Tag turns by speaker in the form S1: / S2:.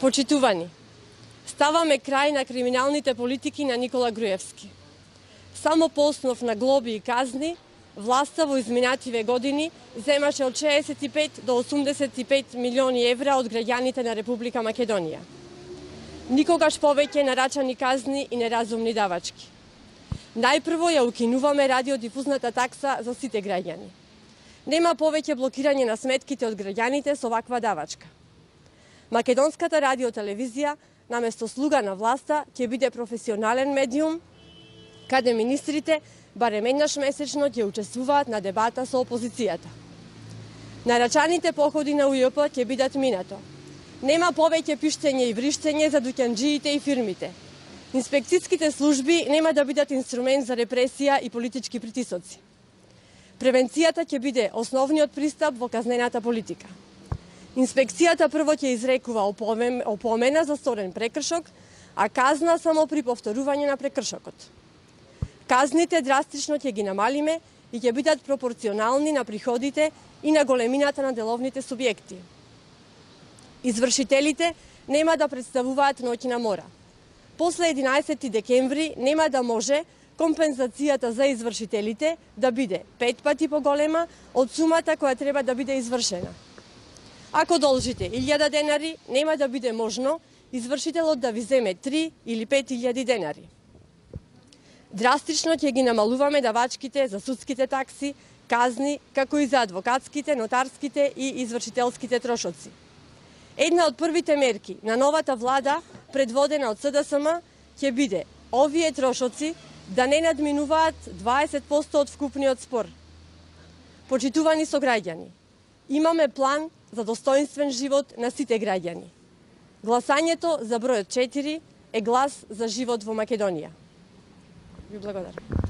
S1: Почитувани, ставаме крај на криминалните политики на Никола Груевски. Само по основ на глоби и казни, власта во изминативе години земаше од 65 до 85 милиони евра од граѓаните на Република Македонија. Никогаш повеќе нарачани казни и неразумни давачки. Најпрво ја укинуваме радиодифузната такса за сите граѓани. Нема повеќе блокирање на сметките од граѓаните со ваква давачка. Македонската радиотелевизија, наместо слуга на власта, ќе биде професионален медиум, каде министрите барем еднаш месечно ќе учествуваат на дебата со опозицијата. Нарачаните походи на УЈП ќе бидат минато. Нема повеќе пиштење и вриштење за дуќанџиите и фирмите. Инспекцијските служби нема да бидат инструмент за репресија и политички притисоци. Превенцијата ќе биде основниот пристап во казнената политика. Инспекцијата прво ќе изрекува опомена за сторен прекршок, а казна само при повторување на прекршокот. Казните драстично ќе ги намалиме и ќе бидат пропорционални на приходите и на големината на деловните субјекти. Извршителите нема да представуваат ноќна мора. После 11 декември нема да може компензацијата за извршителите да биде 5 пати поголема од сумата која треба да биде извршена. Ако должите 1000 денари, нема да биде можно извршителот да ви земе 3 или 5000 денари. Драстично ќе ги намалуваме давачките за судските такси, казни, како и за адвокатските, нотарските и извршителските трошоци. Една од првите мерки на новата влада, предводена од СДСМ, ќе биде овие трошоци да не надминуваат 20% од вкупниот спор. Почитувани сограѓани, имаме план за достоинствен живот на сите граѓани. Гласањето за бројот 4 е глас за живот во Македонија. Ви благодарам.